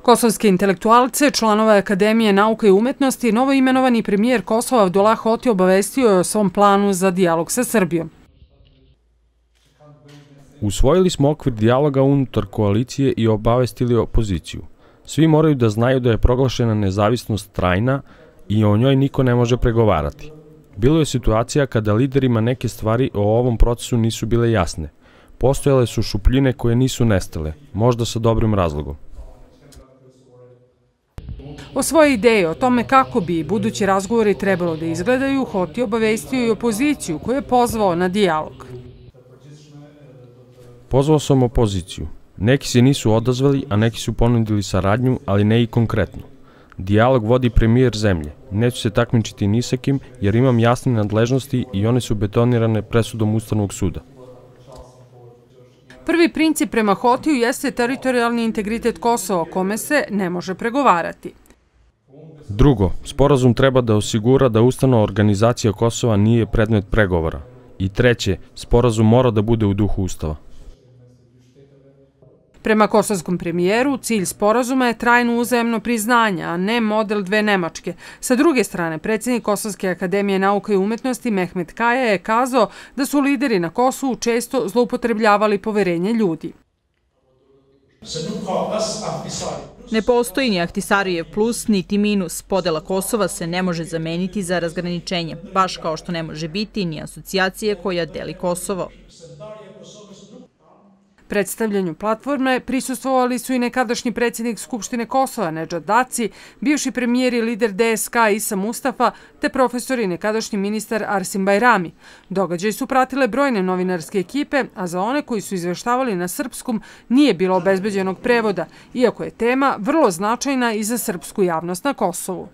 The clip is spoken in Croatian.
Kosovske intelektualce, članove Akademije nauke i umetnosti, novoimenovani premijer Kosova Abdullah Hoti obavestio je o svom planu za dijalog sa Srbijom. Usvojili smo okvir dijaloga unutar koalicije i obavestili opoziciju. Svi moraju da znaju da je proglašena nezavisnost trajna i o njoj niko ne može pregovarati. Bilo je situacija kada liderima neke stvari o ovom procesu nisu bile jasne. Postojale su šupljine koje nisu nestale, možda sa dobrim razlogom. O svoje ideje o tome kako bi budući razgovori trebalo da izgledaju, Hoti obavestio i opoziciju koju je pozvao na dijalog. Pozvao sam opoziciju. Neki se nisu odazvali, a neki su ponudili saradnju, ali ne i konkretno. Dijalog vodi premijer zemlje. Neću se takmičiti ni sa kim, jer imam jasne nadležnosti i one su betonirane presudom Ustavnog suda. Prvi princip prema Hotiju jeste teritorijalni integritet Kosova, o kome se ne može pregovarati. Drugo, sporazum treba da osigura da ustavna organizacija Kosova nije predmet pregovora. I treće, sporazum mora da bude u duhu Ustava. Prema kosovskom premijeru, cilj sporazuma je trajno uzajamno priznanje, a ne model dve Nemačke. Sa druge strane, predsjednik Kosovske akademije nauke i umetnosti Mehmet Kaja je kazao da su lideri na Kosovu često zloupotrebljavali poverenje ljudi. Ne postoji ni Ahtisarijev plus, niti minus. Podela Kosova se ne može zameniti za razgraničenje, baš kao što ne može biti ni asocijacije koja deli Kosovo. Predstavljanju platforme prisustvovali su i nekadašnji predsjednik Skupštine Kosova Nedžad Daci, bivši premijer i lider DSK Isa Mustafa, te profesor i nekadašnji ministar Arsim Bajrami. Događaj su pratile brojne novinarske ekipe, a za one koji su izveštavali na srpskom nije bilo obezbeđenog prevoda, iako je tema vrlo značajna i za srpsku javnost na Kosovu.